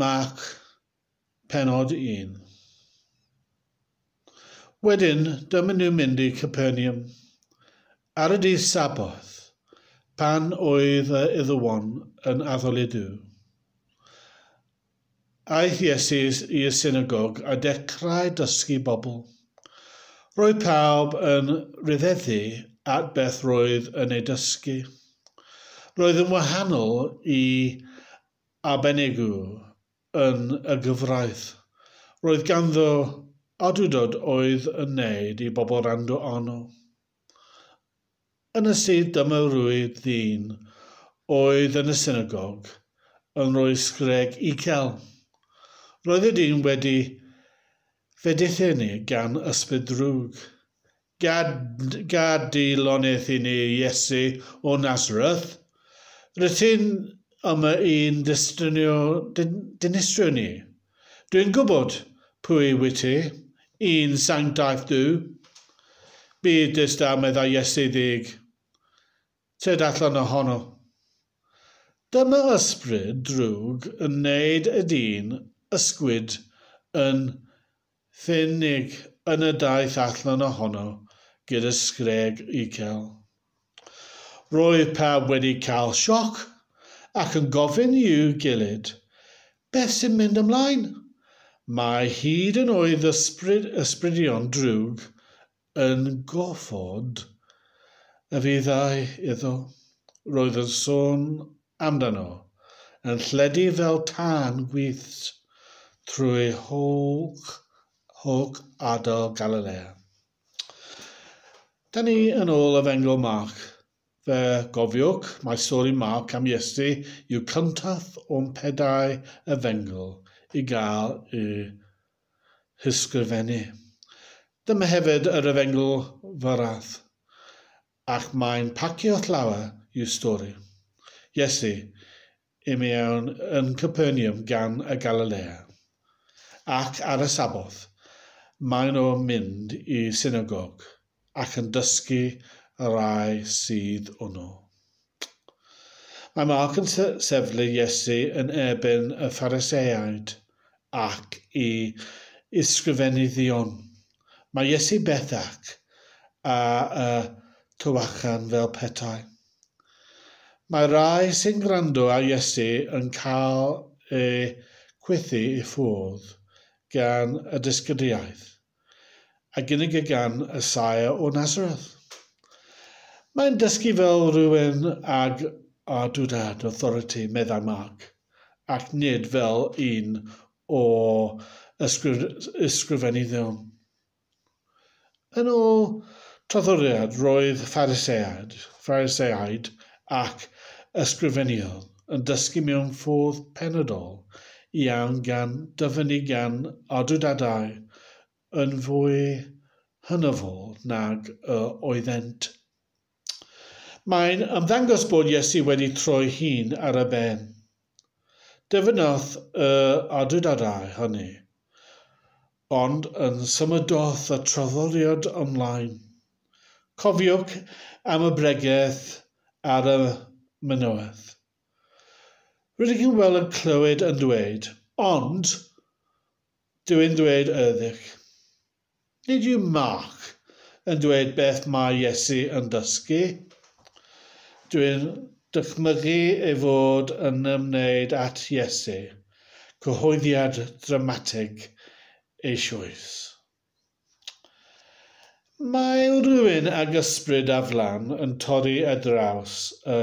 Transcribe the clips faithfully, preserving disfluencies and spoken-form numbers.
Marc, pennod un. Wedyn, dyma nhw'n mynd i Capernaum. Ar y dydd Saboth, pan oedd y Iddewon yn addoli Duw. Aeth Iesu i'r synagog a dechrau dysgu bobl. Roedd pawb yn rhyfeddu at beth roedd yn ei dysgu. Roedd yn wahanol i arbenigwr yn y gyfraith. Roedd ganddo awdurdod oedd yn wneud i bobl wrando arno. Yn y sydd dyma rwyd ddyn oedd yn y synagog yn rhoi sgreg uchel. Roedd y dyn wedi fedithennu gan ysbryd drwg. Gad, gad di lonydd i ni, Iesu o Nazareth. Rydyn ti'n yma i'n dinistrio ni. Dwi'n gwybod pwy wyt ti, un sanctaidd Duw. Bydd distaw, meddai Iesu ddig. Tyd allan ohono. Dyma ysbryd drwg yn wneud y dyn ysgwyd yn ffyrnig yn y daith allan ohono gyda sgreg uchel. Roedd pawb wedi cael sioc ac yn gofyn i'w gilydd, beth sy'n mynd ymlaen? Mae hyd yn oed ysbryd, ysbrydion drwg yn gorfod y fyddai iddo. Roedd yn sôn amdano yn lledu fel tân gwyllt trwy holl, holl ardal Galilea. Da ni yn ôl Efengyl Marc. Fe gofiwch, mae stori Marc am Iesu yw cyntaf o'n pedair efengyl i gael ei hysgrifennu. Dyma hefyd yr efengyl fyrraf, ac mae'n pacio llawer i'w stori. Iesu i mewn yn Capernaum gan y Galilea, ac ar y Saboth, maen nhw'n mynd i synagog ac yn dysgu y rai sydd yno. Mae Marc yn sefydlu Iesu yn erbyn y Phariseaid ac i ysgrifenyddion. Mae Iesu bellach a y tywachan fel petai. Mae rai sy'n gwrando ar Iesu yn cael eu chwythu i ffwrdd gan y dysgyddiaeth a gynigir gan y saer o Nazareth. Mae'n dysgu fel rhywun ag awdurdod authority, meddai Marc, ac nid fel un o ysgrifenyddion. Yn ôl traddodiad, roedd Phariseaid, Phariseaid ac ysgrifenyddion yn dysgu mewn ffordd penodol iawn gan dyfynnu gan awdurdodau yn fwy hynafol nag y oeddent. Mae'n ymddangos bod Iesu wedi troi hun ar y ben. Dyfynnodd y awdurdodau hynny, ond yn symudodd y traddodiad ymlaen. Cofiwch am y bregeth ar y mynydd. Rydych chi'n weld yn clywed yn dweud, ond dwi'n dweud wrthych. Nid yw Marc yn dweud beth mae Iesu yn dysgu. Dwi'n dychmygu ei fod yn ymwneud at Iesu, cyhoeddiad dramatig eisoes. Mae rhywun ag ysbryd aflan yn torri ar draws y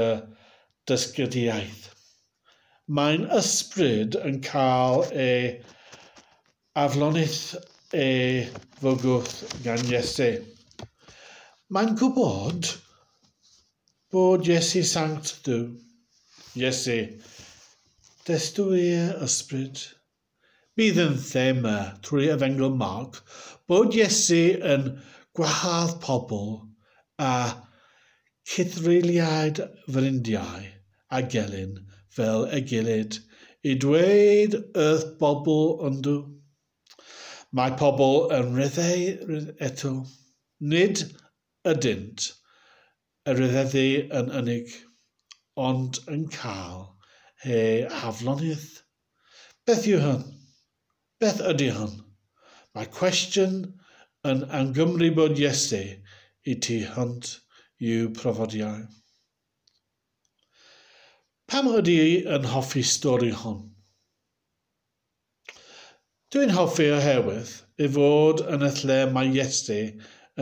dysgyddiaeth. Mae'n ysbryd yn cael ei aflonydd ei fygwth gan Iesu. Mae'n gwybod bod Iesu Sanct Duw. Iesu, destwy'r ysbryd. Bydd yn thema trwy Efengyl Marc bod Iesu yn gwahardd pobl a cythreuliaid fryndiau a gelyn fel ei gilydd i dweud wrth bobl yndw. Mae pobl yn rhyddhau eto. Nid ydynt y rhyfeddu yn unig, ond yn cael eu haflonydd. Beth yw hyn? Beth ydy hyn? Mae cwestiwn yn angymru bod Iesu i tu hwnt i'w profiadau. Pam ydy yn hoffi stori hon? Dwi'n hoffi oherwydd ei fod yn y lle mae Iesu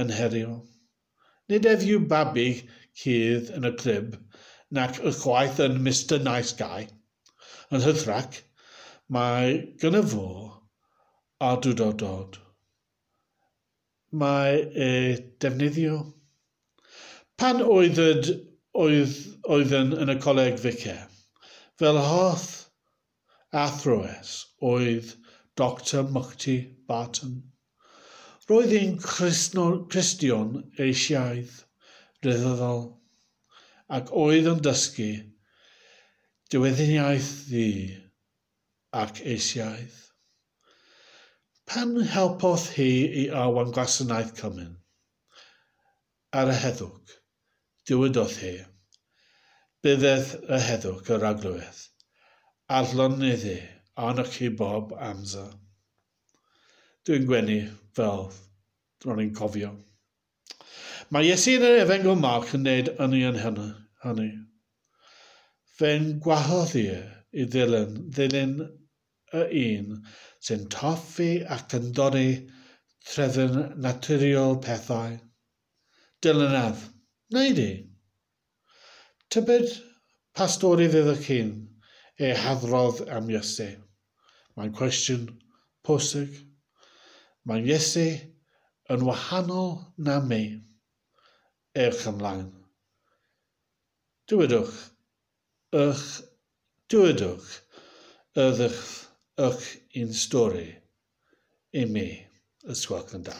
yn herio. Nid ef yw babi cudd yn y crib, nac ychwaith yn Mister Nice Guy. Yn hytrach, mae gynno fo awdurdod. Mae e defnyddio. Pan oedd, oedd, oeddwn yn y coleg ficer, fel hoff athrawes oedd Doctor Mukti Barton. Roedd hi'n Cristion Asiaidd ryddfrydol ac oedd yn dysgu diwinyddiaeth ddu ac Asiaidd. Pan helpodd hi i arwain gwasanaeth cymun ar y heddwch, dywedodd hi, bydded y heddwch yr Arglwydd, aflonyddu arnoch chi bob amser. Dwi'n gwenu fel ro'n i'n cofio. Mae Iesu yn yr Efengyl Marc yn gwneud union hynny. hynny. Fe'n gwahodd i i ddilyn, ddilyn y un sy'n toffi ac yn dorri trefn naturiol pethau. Dilynaf, wneud i. Tybed pa stori fyddwch chi'n ei hadrodd am Iesu? Mae'n cwestiwn pwysig. Mae Iesu yn wahanol na mi. Ewch ymlaen. Dywedwch, ych, dywedwch, ydych ych un stori i mi, ysgwelch yn dda.